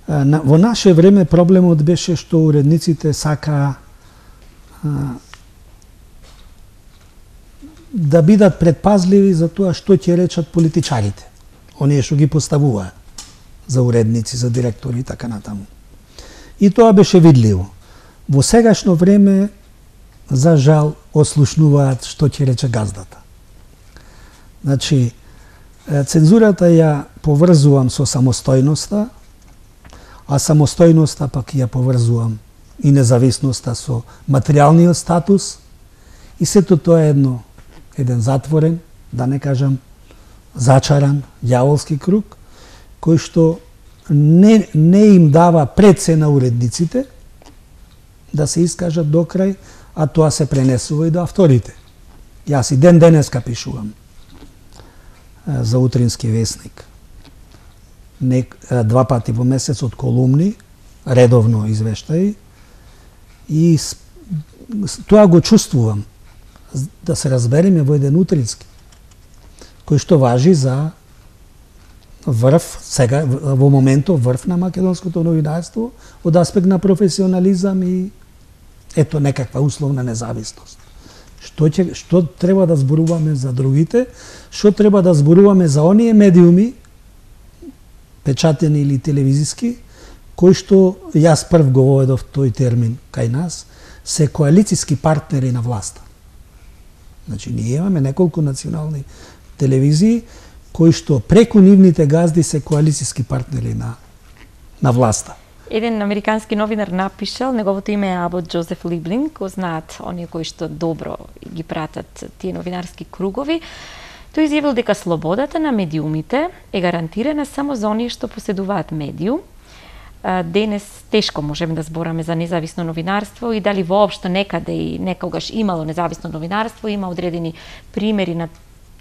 Во наше време проблемот беше што уредниците сакаа да бидат предпазливи за тоа што ќе речат политичарите, оние што ги поставуваат за уредници, за директори и така натаму. И тоа беше видливо. Во сегашно време, за жал, ослушнуваат што ќе рече газдата. Значи, цензурата ја поврзувам со самостојноста, а самостојноста пак ја поврзувам и независноста со материјалниот статус, и сето тоа е едно, еден затворен, да не кажам зачаран, ѓаволски круг, кој што не, не им дава прецена уредниците да се искажат до крај, а тоа се пренесува и до авторите. Јас и ден денеска пишувам за Утрински весник. Не, два пати во месец од колумни, редовно извештаи, и тоа го чувствувам, да се разбереме, во еден утрински, кој што важи за врв, сега во моментов врв на македонското новинарство од аспект на професионализам и ето некаква условна независност. Што ќе што треба да зборуваме за другите, што треба да зборуваме за оние медиуми печатени или телевизиски, кои што јас прв го воведов тој термин кај нас, се коалициски партнери на власта. Значи, ние имаме неколку национални телевизии кои што преку нивните газди се коалициски партнери на на власта. Еден американски новинар напишал, неговото име е Абот Джозеф Либлинг, го знаат оние кои што добро ги пратат тие новинарски кругови. Тој изјавил дека слободата на медиумите е гарантирана само за оние што поседуваат медиум. Денес тешко можеме да збораме за независно новинарство и дали воопшто некаде и некогаш имало независно новинарство, има одредени примери на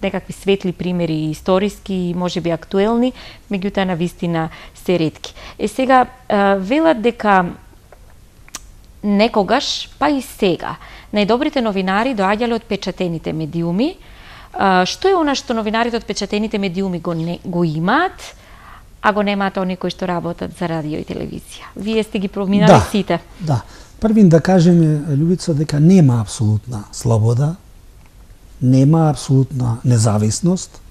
некакви светли примери историски и можеби актуелни, меѓутоа на вистина се ретки. Е сега велат дека некогаш, па и сега, најдобрите новинари доаѓале од печатените медиуми. Што е она што новинарите од печатените медиуми го, не, го имаат, а го немаат оние кои што работат за радио и телевизија? Вие сте ги проминали да, сите. Да. Првин да кажеме, Љубица, дека нема апсолутна слобода, нема апсолутна независност.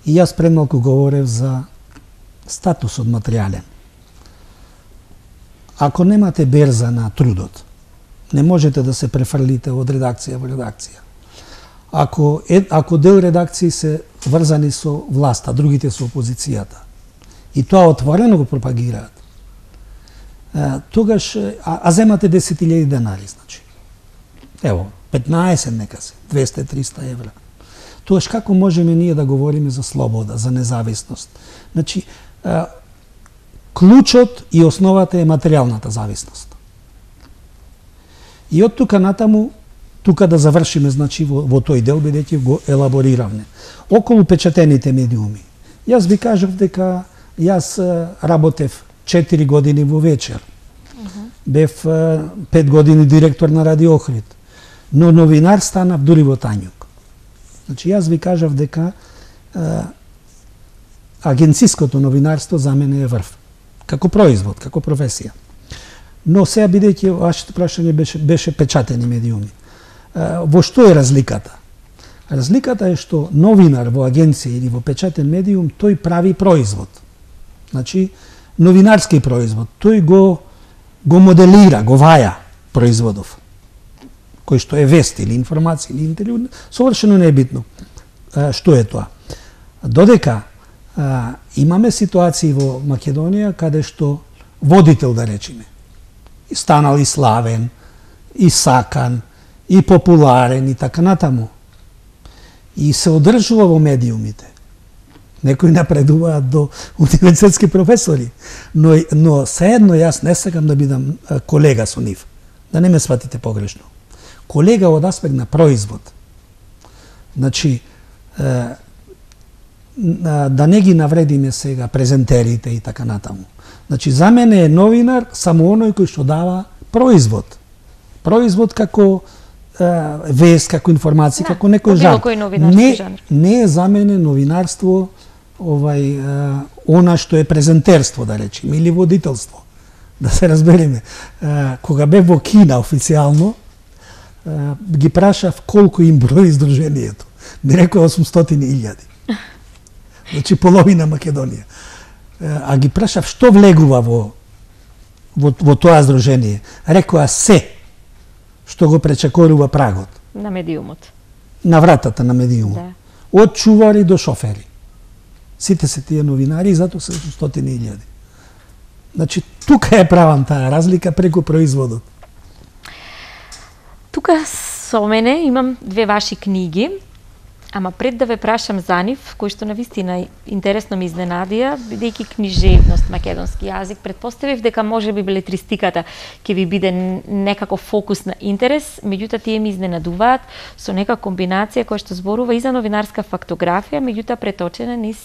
И јас премалку говорев за статусот материјален. Ако немате берза на трудот, не можете да се префрлите од редакција во редакција. Ако, е, ако дел редакции се врзани со власта, другите со опозицијата, и тоа отворено го пропагираат, тогаш, а, а земате десет илјади денари, значи. Ево, петнаесет нека се, двесте до триста евра. Тогаш како можеме ние да говориме за слобода, за независност? Значи, а, клучот и основата е материјалната зависност. И од тука натаму, тука да завршиме, значи, во, во тој дел, бидејќи го елабориравме. Околу печатените медиуми. Јас ви кажав дека јас работев четири години во вечер. Uh-huh. Бев пет години директор на Радио Охрид. Но новинар станав дури во Тањук. Значи, јас ви кажав дека а, агенциското новинарство за мене е врв. Како производ, како професија. Но сега, бидејќи вашето прашање беше, беше печатени медиуми. А, во што е разликата? Разликата е што новинар во агенција или во печатен медиум, тој прави производ. Значи, новинарски производ. Тој го, го моделира, го ваја производов. Кој што е вест или информација или интервју, совршено не е битно. А, што е тоа? Додека а, имаме ситуации во Македонија каде што водител, да речеме, станал и славен, и сакан, и популарен и така натаму. И се одржува во медиумите. Некои напредуваат до универзитетски професори, но, но сеедно јас не сакам да бидам колега со нив. Да не ме сватите погрешно. Колега од аспект на производ. Значи, е, да не ги навредиме сега презентерите и така натаму. Значи, за мене е новинар само оној кој што дава производ. Производ како вест, како информација, да, како некој жанр. Не, жанр. Не е за мене новинарство овај она што е презентерство, да речеме, или водителство. Да се разбереме. Кога бев во Кина официјално, ги прашав колку им брои издружението. Ми рекоа осумстотини илјади. Значи половина Македонија. А ги прашав што влегува во во, во тоа издружение. Рекоа се што го пречекорува прагот. На медиумот. На вратата на медиумот. Да. Од чувари до шофери. Сите се тие новинари и затоа се стотини илјади. Значи, тука е правам таа разлика преку производот. Тука со мене имам две ваши книги, ама пред да ве прашам за нив, кои што навистина интересно ми изненадија, бидејќи книжевност, македонски јазик, предпоставив дека може би белетристиката ќе ви биде некако фокус на интерес, меѓутоа тие ми изненадуваат со нека комбинација која што зборува и за новинарска фактографија, меѓутоа преточена низ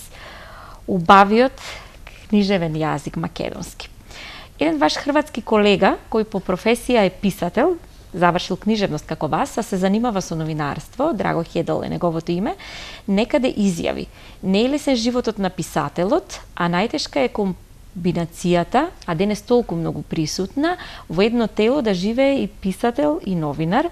убавиот книжевен јазик македонски. Еден ваш хрватски колега, кој по професија е писател, завршил книжевност како вас, а се занимава со новинарство, Драго Хедел е неговото име, некаде изјави: не е лесен животот на писателот, а најтешка е комбинацијата, а денес толку многу присутна, во едно тело да живее и писател и новинар.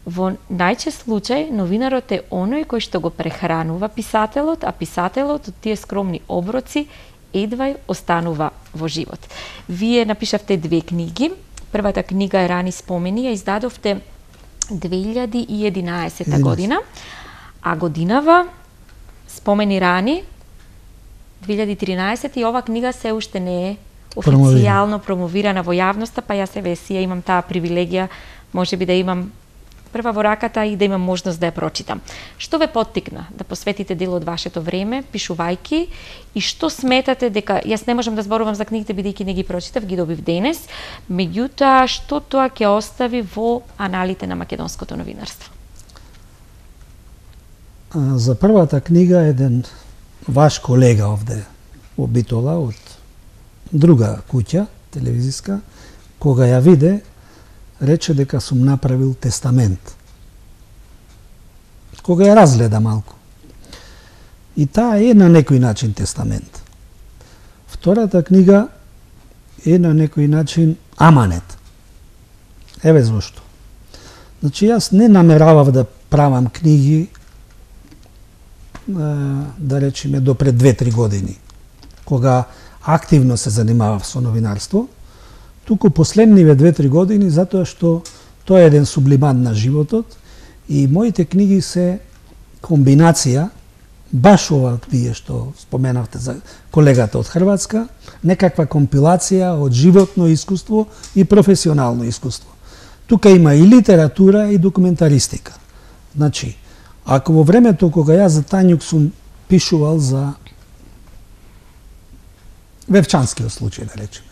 Во најчест случај, новинарот е оној кој што го прехранува писателот, а писателот од тие скромни оброци едвај останува во живот. Вие напишавте две книги. Првата книга е Рани спомени, ја издадовте две илјади и единаесета година, а годинава Спомени рани две илјади и тринаесета и ова книга се уште не е официјално промовирана во јавноста, па јас еве си ја имам таа привилегија, можеби да имам прва во раката и да имам можност да ја прочитам. Што ве поттикна да посветите дел од вашето време пишувајки и што сметате дека, јас не можам да зборувам за книгите бидејќи не ги прочитав, ги добив денес, меѓутоа што тоа ќе остави во аналите на македонското новинарство? За првата книга еден ваш колега овде во Битола од друга куќа телевизиска, кога ја виде, рече дека сум направил тестамент. Кога ја разгледа малку. И таа е на некој начин тестамент. Втората книга е на некој начин аманет. Еве зошто. Значи јас не намеравав да правам книги, да речеме, до пред две-три години, кога активно се занимавав со новинарство, туку последниве две-три години, затоа што тоа е еден сублимат на животот и моите книги се комбинација, баш ова вие што споменавте за колегата од Хрватска, некаква компилација од животно искуство и професионално искуство. Тука има и литература и документаристика. Значи, ако во времето кога јас за Тањук сум пишувал за Вевчанскиот случај, да речеме,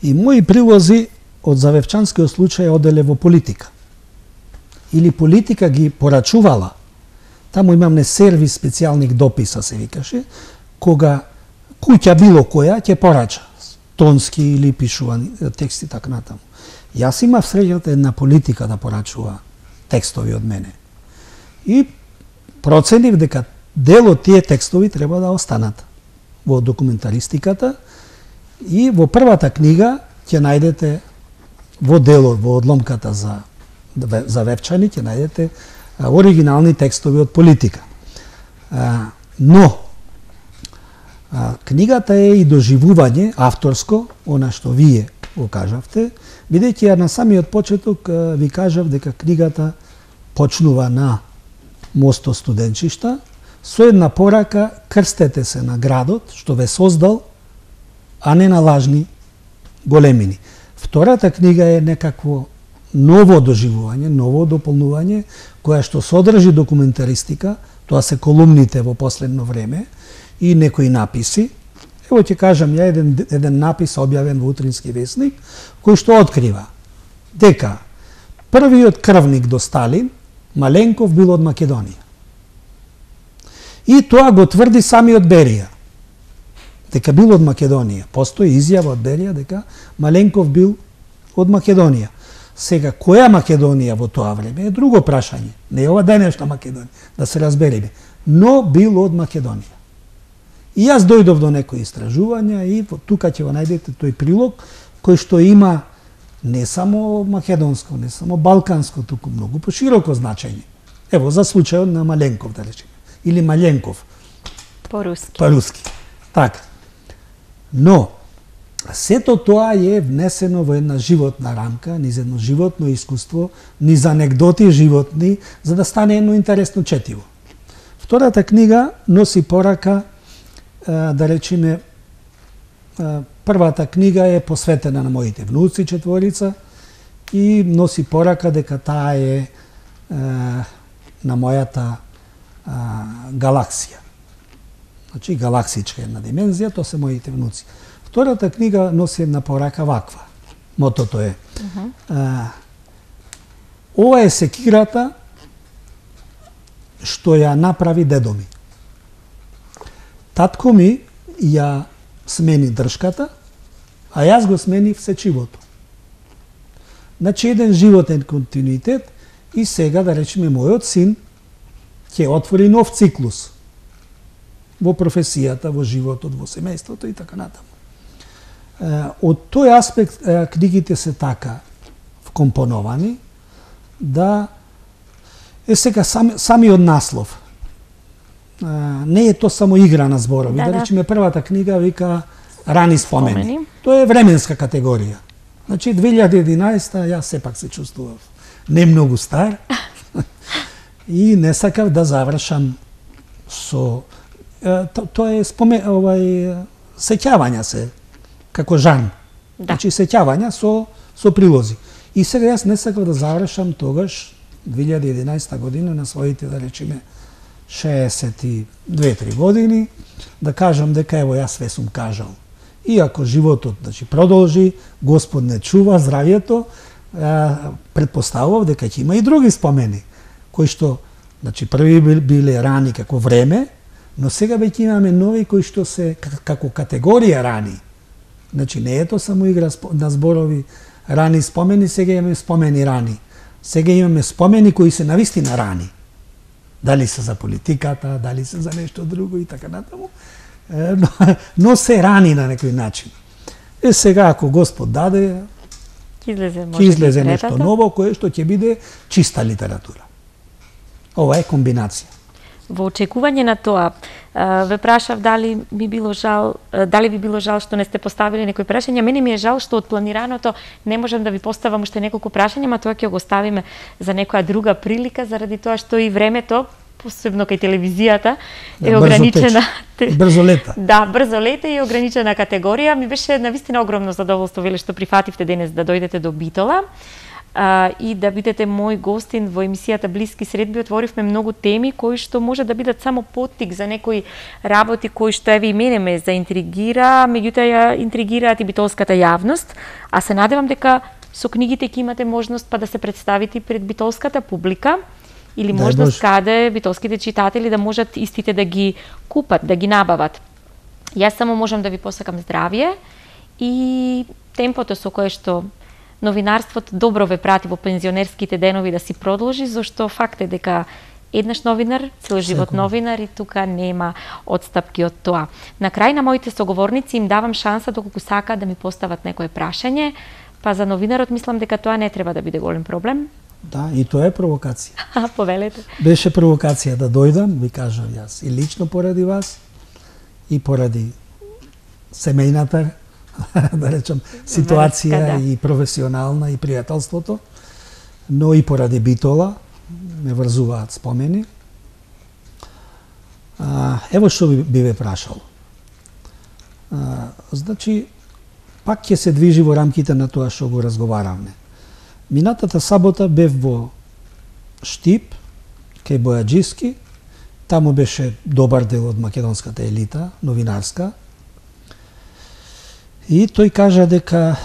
и мои прилози од за Вевчанскиот случај оделе во политика. Или политика ги порачувала. Таму имаме сервис специјалних дописа, се викаше, кога куќа било која ќе порача тонски или пишувани тексти така натаму. Јас имав среќата една политика да порачува текстови од мене. И проценив дека дел од тие текстови треба да останат во документаристиката и во првата книга ќе најдете во делот, во одломката за, за Вевчани, ќе најдете оригинални текстови од политика. Но, книгата е и доживување авторско, она што вие го кажавте, бидејќи ја на самиот почеток ви кажав дека книгата почнува на Мосто студенчишта, со една порака: крстете се на градот што ве создал, а не на лажни големини. Втората книга е некакво ново доживување, ново дополнување, која што содржи документаристика, тоа се колумните во последно време и некои написи. Ево ќе кажам ја еден, еден напис објавен во Утрински весник, кој што открива дека првиот крвник до Сталин, Маленков, бил од Македонија. И тоа го тврди самиот Берија, дека бил од Македонија. Постои изјава од Берија дека Маленков бил од Македонија. Сега, која Македонија во тоа време е друго прашање. Не е ова денешна Македонија, да се разбереме. Но бил од Македонија. И јас дојдов до некои истражувања и тука ќе го најдете тој прилог, кој што има не само македонско, не само балканско, туку многу пошироко значење. Ево, за случајот на Маленков, да речеме. Или Маленков. По-руски. По-руски. Така. Но, сето тоа е внесено во една животна рамка, низ едно животно искуство, низ анегдоти животни, за да стане едно интересно четиво. Втората книга носи порака, да речеме, првата книга е посветена на моите внуци, четворица, и носи порака дека таа е, е на мојата е, галаксија. Значи, галаксичка една димензија, тоа се моите внуци. Втората книга носи една порака ваква. Мотото е. Uh-huh. е ова е секирата што ја направи дедо ми. Татко ми ја смени држката, а јас го сменив сечивото. Значи еден животен континуитет и сега да речеме мојот син ќе отвори нов циклус во професијата, во животот, во семејството и така натаму. Од тој аспект книгите се така вкомпоновани да е сега сами, самиот наслов. Не е то само игра на зборови. Да, да, да речеме првата книга вика Рани спомени. спомени. Тоа е временска категорија. Значи две илјади и единаесета јас сепак се чувствував не многу стар и не сакав да завршам со тоа е спомен овај сеќавања се како жан. Да. Значи сеќавања со со прилози. И сега јас не сакав да завршам тогаш две илјади и единаесета година на своите да речеме шеесет и две-три години да кажам дека ево јас све сум кажал. И ако животот значи продолжи, Господ не чува здравието, предпоставував дека ќе има и други спомени кои што значи први биле рани како време, но сега веќе имаме нови кои што се како категорија рани. Значи не е тоа само игра на зборови рани спомени, сега имаме спомени рани. Сега имаме спомени кои се навистина рани. Дали се за политиката, дали се за нешто друго и така натаму. Но, но се рани на некој начин. Е сега ако Господ даде, ќе излезе, излезе нешто ново кое што ќе биде чиста литература. Ова е комбинација. Во очекување на тоа, ве прашав дали ми било жал, дали ви било жал што не сте поставили некои прашања. Мене ми е жал што од планираното не можам да ви поставам уште неколку прашања, ма тоа ќе го оставиме за некоја друга прилика, заради тоа што и времето, посебно кај телевизијата, е да, ограничена. Брзо, брзо лета. Да, брзо лета и ограничена категорија. Ми беше навистина огромно задоволство веле што прифативте денес да дојдете до Битола. А, и да бидете мој гостин во емисијата Блиски средби. Отворивме многу теми кои што може да бидат само поттик за некои работи кои што еве и мене ме заинтригира, меѓутоа ја интригираат и битолската јавност, а се надевам дека со книгите ќе имате можност па да се представите пред битолската публика или можност каде битолските читатели да можат истите да ги купат, да ги набават. Јас само можам да ви посакам здравје и темпото со кое што новинарството добро ве прати во пензионерските денови да си продолжи, зашто факт е дека еднаш новинар, цел живот новинар и тука нема одстапки од тоа. На крај на моите соговорници им давам шанса доколку сакаат да ми постават некое прашање, па за новинарот мислам дека тоа не треба да биде голем проблем. Да, и тоа е провокација. Повелете. Беше провокација да дојдам, ви кажав јас, и лично поради вас, и поради семејната да речам, ситуација Врска, да. И професионална и пријателството, но и поради Битола ме врзуваат спомени. А, ево што би, би ве прашал. А, значи, пак ќе се движи во рамките на тоа што го разговаравме. Минатата сабота бев во Штип, кај Бојаджиски, таму беше добар дел од македонската елита, новинарска, и тој кажа дека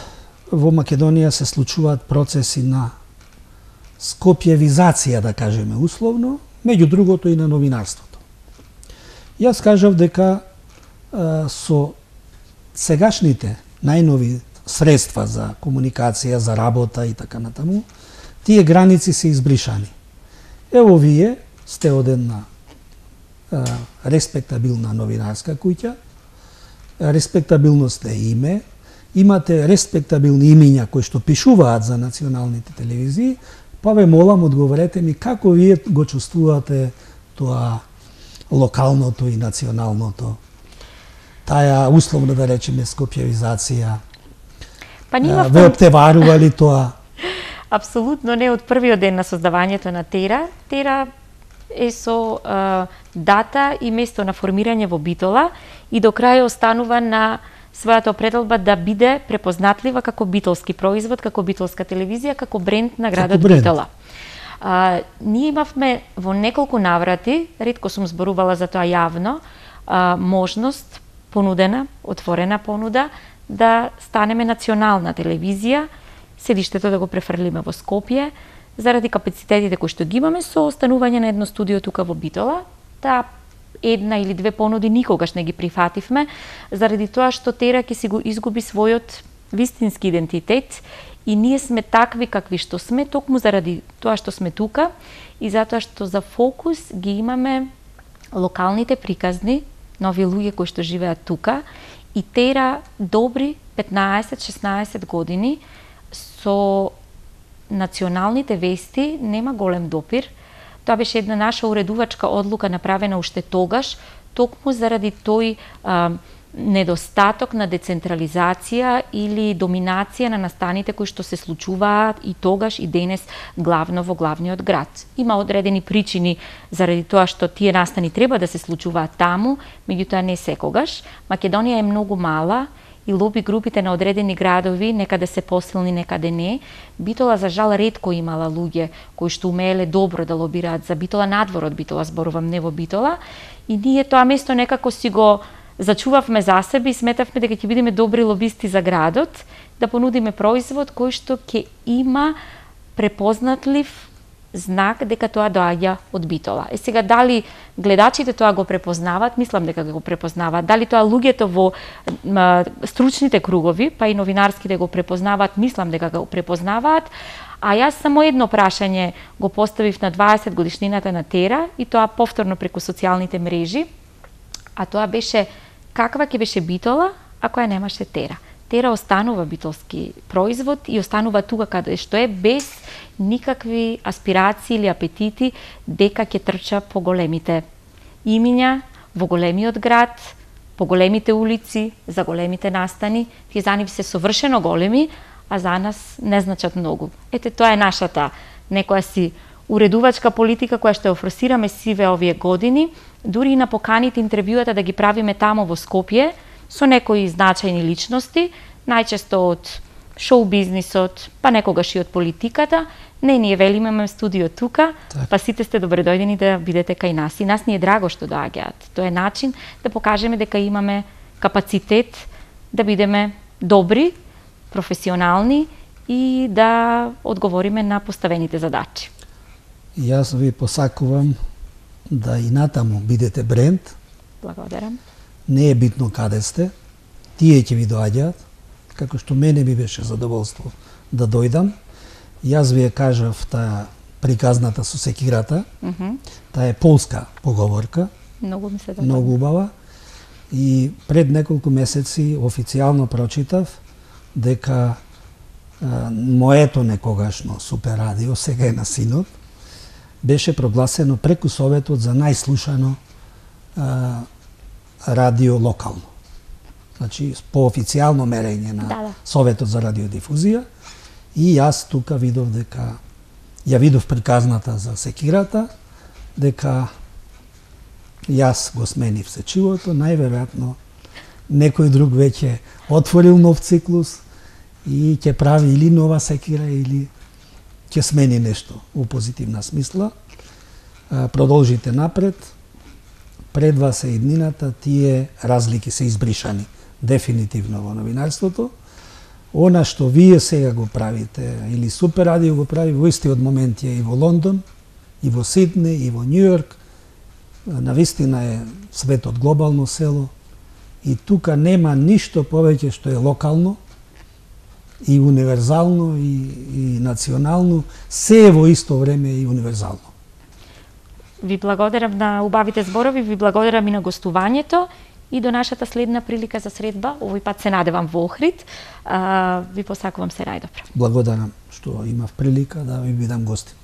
во Македонија се случуваат процеси на скопјевизација, да кажеме условно, меѓу другото и на новинарството. Јас кажав дека а, со сегашните најнови средства за комуникација, за работа и така натаму, тие граници се избришани. Ево вие сте од една а, респектабилна новинарска куќа, респектабилност е име, имате респектабилни имиња кои што пишуваат за националните телевизии, па ве молам, одговорете ми како вие го чувствувате тоа локалното и националното, таа условно да речеме скопјевизација. Па нима ве оптеварува ли тоа? Апсолутно не, од првиот ден на создавањето на Тера. Тера е со а, дата и место на формирање во Битола и до крај останува на својата определба да биде препознатлива како битолски производ, како битолска телевизија, како бренд на градот Битола. А, ние имавме во неколку наврати, ретко сум зборувала за тоа јавно, а, можност, понудена, отворена понуда, да станеме национална телевизија, седиштето да го префрлиме во Скопје, заради капацитетите кои што ги имаме со останување на едно студио тука во Битола. Таа една или две понуди никогаш не ги прифативме, заради тоа што Тера ќе си го изгуби својот вистински идентитет и ние сме такви какви што сме, токму заради тоа што сме тука и затоа што за фокус ги имаме локалните приказни на овие луѓе кои што живеат тука и тера добри петнаесет-шеснаесет години со националните вести нема голем допир. Тоа беше една наша уредувачка одлука направена уште тогаш, токму заради тој а, недостаток на децентрализација или доминација на настаните кои што се случуваат и тогаш и денес главно во главниот град. Има одредени причини заради тоа што тие настани треба да се случуваат таму, меѓутоа не секогаш. Македонија е многу мала и лоби групите на одредени градови некаде се посилни, некаде не. Битола за жал ретко имала луѓе кои што умееле добро да лобираат за Битола, надвор од Битола, зборувам, не во Битола, и ние тоа место некако си го зачувавме за себе и сметавме дека ќе бидеме добри лобисти за градот, да понудиме производ кој што ќе има препознатлив знак дека тоа доаѓа од Битола. Е сега дали гледачите тоа го препознаваат, мислам дека го препознаваат. Дали тоа луѓето во м, стручните кругови, па и новинарските го препознаваат, мислам дека го препознаваат. А јас само едно прашање го поставив на дваесет годишнината на Тера и тоа повторно преку социјалните мрежи, а тоа беше каква ќе беше Битола ако ја немаше Тера. Тера останува битолски производ и останува тука каде што е, без никакви аспирации или апетити дека ќе трча по големите имиња, во големиот град, по големите улици, за големите настани. Тие за нив се совршено големи, а за нас не значат многу. Ете, тоа е нашата некоја си уредувачка политика која што ја форсираме сиве овие години, дури и на поканите интервјуата да ги правиме тамо во Скопје, со некои значајни личности, најчесто од шоу бизнисот, па некогаш и од политиката. Не, ние велиме, имаме студио тука, так. Па сите сте добредојдени да бидете кај нас. И нас ни е драго што доаѓаат. Тоа е начин да покажеме дека имаме капацитет да бидеме добри, професионални и да одговориме на поставените задачи. Јас ви посакувам да и натаму бидете бренд. Благодарам. Не е битно каде сте, тие ќе ви доаѓаат, како што мене ми беше задоволство да дојдам. Јас ви ја кажав таа приказната со секирата, mm -hmm. таа е полска поговорка, многу ми се да многу убава. И пред неколку месеци официјално прочитав дека а, моето некогашно супер радио, сега е на синот, беше прогласено преку Советот за најслушано а, радио локално. Значи, по официјално мерење на да, да. Советот за радиодифузија. И јас тука видов дека, ја видов приказната за секирата, дека јас го сменив сечивото, најверојатно некој друг веќе отворил нов циклус и ќе прави или нова секира, или ќе смени нешто во позитивна смисла. Продолжите напред. Пред вас е иднината, тие разлики се избришани дефинитивно во новинарството. Она што вие сега го правите, или Супер радио го прави, во истиот момент е и во Лондон, и во Сидне, и во Њујорк. Навистина е светот глобално село и тука нема ништо повеќе што е локално и универзално и, и национално, се е во исто време и универзално. Ви благодарам на убавите зборови, ви благодарам и на гостувањето и до нашата следна прилика за средба. Овој пат се надевам во Охрид. А, ви посакувам се најдобро. Благодарам што имав прилика да ви бидам гостин.